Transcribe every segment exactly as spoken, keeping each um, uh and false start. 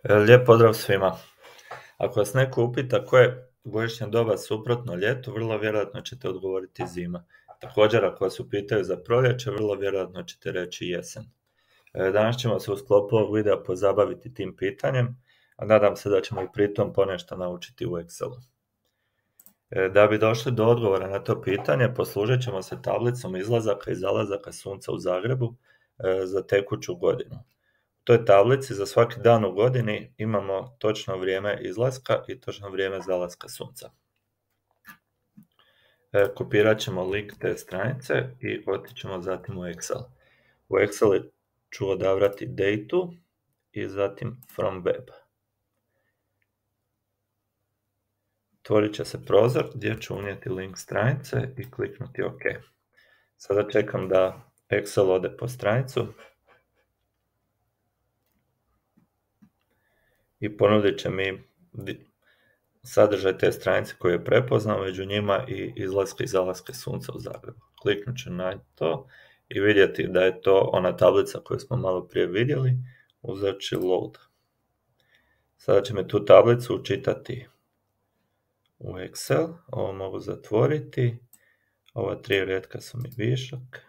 Lijep pozdrav svima. Ako vas neko upita koje je godišnje doba suprotno ljetu, vrlo vjerojatno ćete odgovoriti zima. Također, ako vas upitaju za proljeće, vrlo vjerojatno ćete reći jesen. Danas ćemo se u sklopu ovog videa pozabaviti tim pitanjem, a nadam se da ćemo i pritom ponešto naučiti u Excelu. Da bi došli do odgovora na to pitanje, poslužit ćemo se tablicom izlazaka i zalazaka sunca u Zagrebu za tekuću godinu. U toj tablici za svaki dan u godini imamo točno vrijeme izlaska i točno vrijeme zalaska sunca. E, kopirat ćemo link te stranice i otićemo zatim u Excel. U Excel ću odabrati datu i zatim from web. Otvorit će se prozor gdje ću unijeti link stranice i kliknuti OK. Sada čekam da Excel ode po stranicu i ponudit će mi sadržaj te stranice koju je prepoznao, među njima i izlaske i zalaske sunca u Zagrebu. Kliknut ću na to i vidjeti da je to ona tablica koju smo malo prije vidjeli, uzet ću load. Sada će me tu tablicu učitati u Excel, ovo mogu zatvoriti, ova tri retka su mi višak,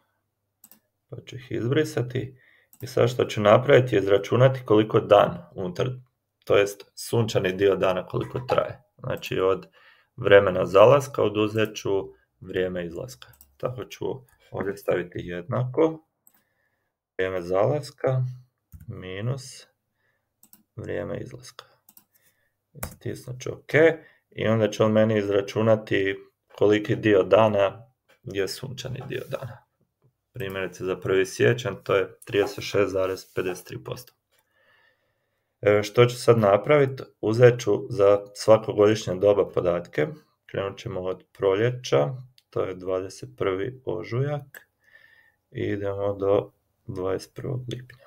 pa ću ih izbrisati i sad što ću napraviti je izračunati koliko dan unutar, to jest sunčani dio dana koliko traje. Znači od vremena zalaska oduzet ću vrijeme izlaska. Tako ću ovdje staviti jednako vrijeme zalaska minus vrijeme izlaska. Stisnut ću OK i onda će on meni izračunati koliki dio dana je sunčani dio dana. Primjerice za prvi siječanj to je trideset šest zarez pedeset tri posto. E, što ću sad napraviti? Uzet ću za svako godišnje doba podatke. Krenut ćemo od proljeća, to je dvadeset prvi ožujak i idemo do dvadeset prvog lipnja.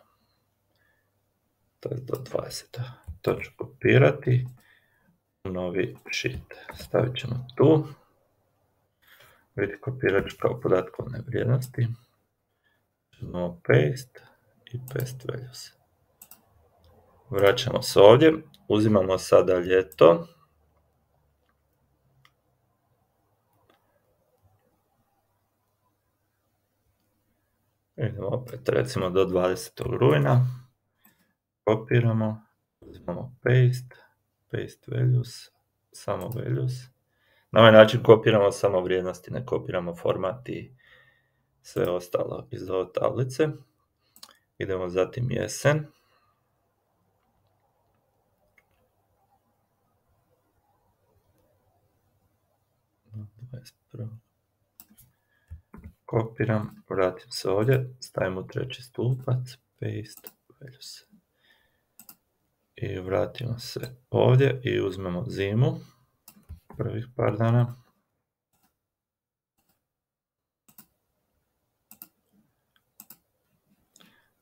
To je do dvadesetog. To ću kopirati u novi sheet. Stavit ćemo tu. Vidite, kopirat ću kao podatkovne vrijednosti. Ćemo paste i paste values. Vraćamo se ovdje, uzimamo sada ljeto. Idemo opet recimo do dvadesetog rujna. Kopiramo, uzimamo paste, paste values, samo values. Na ovaj način kopiramo samo vrijednosti, ne kopiramo format i sve ostalo iz ove tablice. Idemo zatim jesen. Kopiram, vratim se ovdje, stavim u treći stupac, paste values. I vratimo se ovdje i uzmemo zimu, prvih par dana.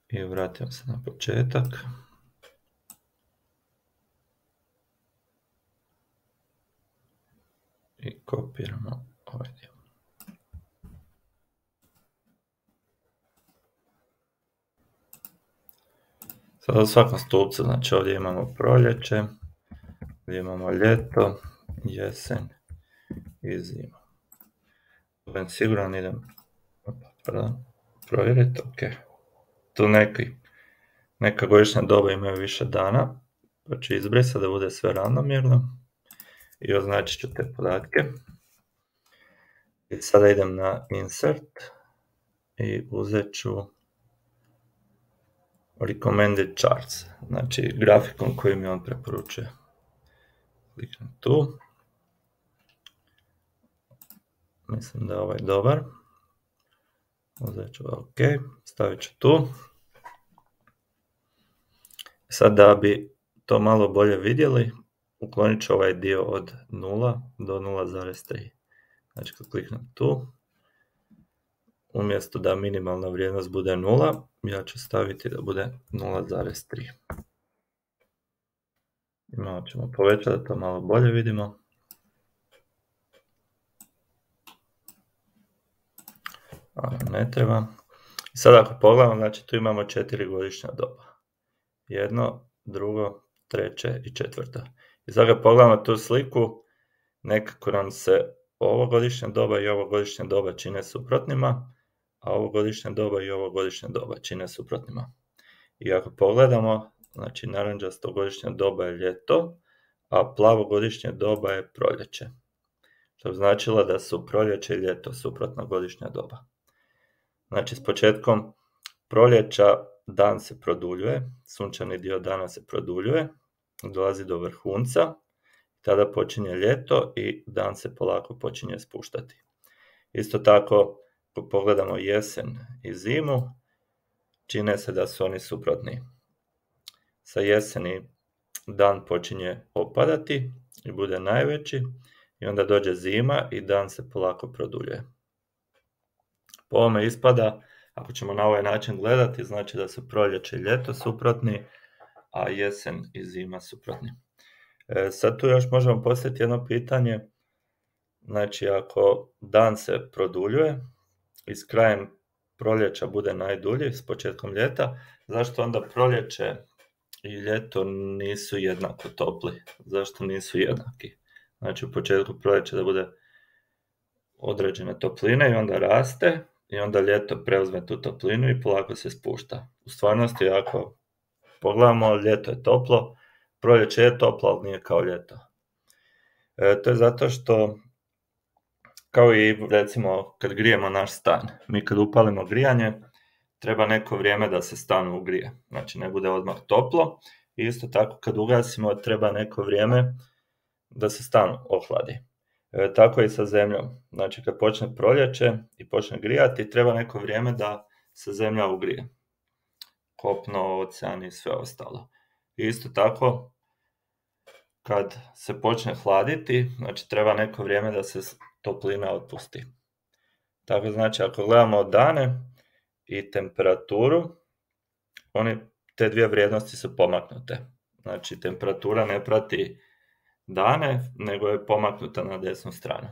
I vratimo se na početak. I kopiramo ovaj dio. Sada u svakom stupcu, znači ovdje imamo proljeće, ovdje imamo ljeto, jesen i zimu. Budem siguran, idem pardon, provjeriti, ok. Tu neki, neka godišnja doba imaju više dana, pa ću izbrisati da bude sve ravnomjerno i označit ću te podatke. I sada idem na insert i uzet ću recommended charts, znači grafikon koji mi on preporučuje. Kliknem tu. Mislim da je ovaj dobar. Uzet ću OK, stavit ću tu. Sad da bi to malo bolje vidjeli, uklonit ću ovaj dio od nula do nula zarez tri. Znači kad kliknem tu, umjesto da minimalna vrijednost bude nula, ja ću staviti da bude nula zarez tri. I malo ćemo povećati da to malo bolje vidimo. A, ne treba. Sad ako pogledamo, znači tu imamo četiri godišnja doba. Jedno, drugo, treće i četvrto. I sad ga pogledamo tu sliku, nekako nam se ovo godišnje doba i ovo godišnje doba čine suprotnima, a ovo godišnje doba i ovo godišnje doba čine suprotnima. I ako pogledamo, znači narančasto godišnje doba je ljeto, a plavo godišnje doba je proljeće. Što bi značilo da su proljeće i ljeto suprotna godišnja doba. Znači s početkom proljeća dan se produljuje, sunčani dio dana se produljuje, dolazi do vrhunca, tada počinje ljeto i dan se polako počinje spuštati. Isto tako, ako pogledamo jesen i zimu, čine se da su oni suprotni. Sa jeseni dan počinje opadati i bude najveći, i onda dođe zima i dan se polako produljuje. Po ovome ispada, ako ćemo na ovaj način gledati, znači da su proljeće i ljeto suprotni, a jesen i zima suprotni. E, sad tu još možemo postaviti jedno pitanje, znači ako dan se produljuje i s krajem proljeća bude najdulji, s početkom ljeta, zašto onda proljeće i ljeto nisu jednako topli? Zašto nisu jednaki? Znači u početku proljeća da bude određene topline i onda raste, i onda ljeto preuzme tu toplinu i polako se spušta. U stvarnosti, ako pogledamo, ljeto je toplo, proljeće je toplo, ali nije kao ljeto. E, to je zato što, kao i recimo kad grijemo naš stan, mi kad upalimo grijanje, treba neko vrijeme da se stan ugrije, znači ne bude odmah toplo, i isto tako kad ugasimo treba neko vrijeme da se stan ohladi. E, tako i sa zemljom, znači kad počne proljeće i počne grijati, treba neko vrijeme da se zemlja ugrije. Kopno, ocean i sve ostalo. I isto tako, kad se počne hladiti, znači treba neko vrijeme da se toplina otpusti. Tako znači, ako gledamo dane i temperaturu, oni, te dvije vrijednosti su pomaknute. Znači, temperatura ne prati dane, nego je pomaknuta na desnu stranu.